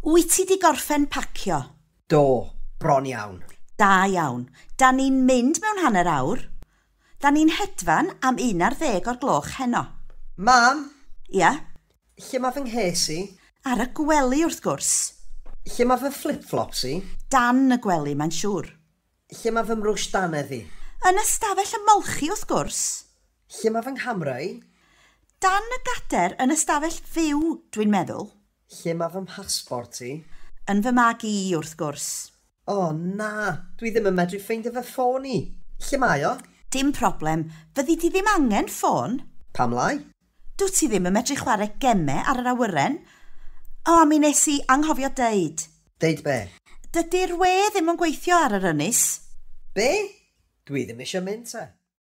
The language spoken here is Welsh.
Wyt ti 'di gorffen pacio? Do, bron iawn. Da iawn. Da ni'n mynd mewn hanner awr. Da ni'n hedfan am 11 o'r gloch heno. Mam, Ia? Lle mae fy nghês i? Ar y gwely, wrth gwrs. Lle mae fy flip-flops i? Dan y gwely, mae'n siŵr. Lle mae fy mrwsh dannedd i? Yn ystafell ymolchi, wrth gwrs. Lle mae fy nghamera i? Dan y gader yn ystafell fyw, dwi'n meddwl. Lle mae fy mhasbort i? Yn fy mag i, wrth gwrs. O na, dwi ddim yn medru ffeindio fy ffôn i. Lle mae o? Dim problem, fyddi di ddim angen ffôn. Pam lai? Dwyt ti ddim yn medru chwarae gemau ar yr awyren. O, a mi nes i anghofio deud. Deud be? Dydy'r we ddim yn gweithio ar yr ynys. Be? Dwi ddim eisiau mynd te.